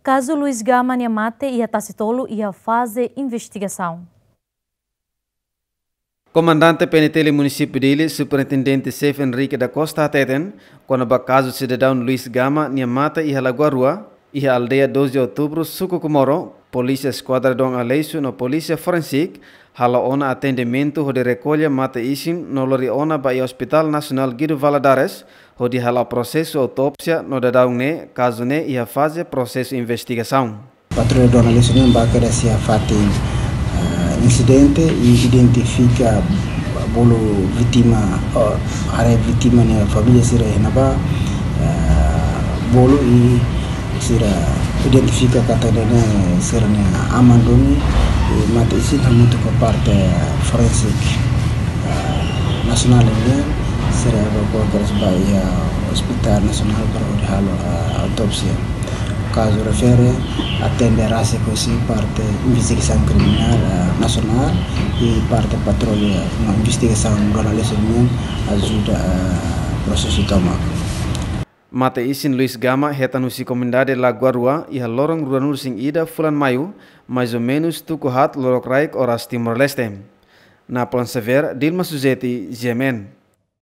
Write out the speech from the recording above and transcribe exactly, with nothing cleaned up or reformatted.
Kazu Luis Gama nia mate iha Tasitolu iha faze investigasaun. Komandante P N T L Munisípiu Dili, Superintendente Xefe Henrique da Costa hateten, kona-ba kazu sidadaun Luis Gama nia mate iha Lagoa Rua, iha aldeia doze Outubru, suku Comoro, Polísia Eskuadra Dom Aleixo no Polísia Forensik halo ona atendimentu hodi rekolla mate-isin no lori ona ba iha Hospital Nasionál Guido Valadares, hodi halo prosesu autópsia no daudaun ne'e kazu ne'e iha faze prosesu investigasaun. Patrulla Dom Aleixo nian ba kedas iha fatin, ah, insidente i identifika bolu vítima, oh, haree vítima nia família sira iha ne'ebá, ah, bolu i sira identifika katak ne'e sira-nia aman duni, i mate-isin hamutuk ho parte forensik, ah, nasionál nian, sira evakua kedas ba iha Hospital Nasionál para hodi halo, ah, autópsia. Kazu refere atende rasik husi parte investigasaun kriminál, ah, nasionál i parte patrulla no investigasaun Dom Aleixo nian ajuda, ah, prosesu tomak. Mate-isin Luis Gama hetan husi komunidade Lagoa Rua iha loron ruanulu-resin-ida fulan Maiu, mais ou menus tuku haat lorokraik oras Timor-Leste. Napoleon Xavier, Dilma Suzeti, G M N.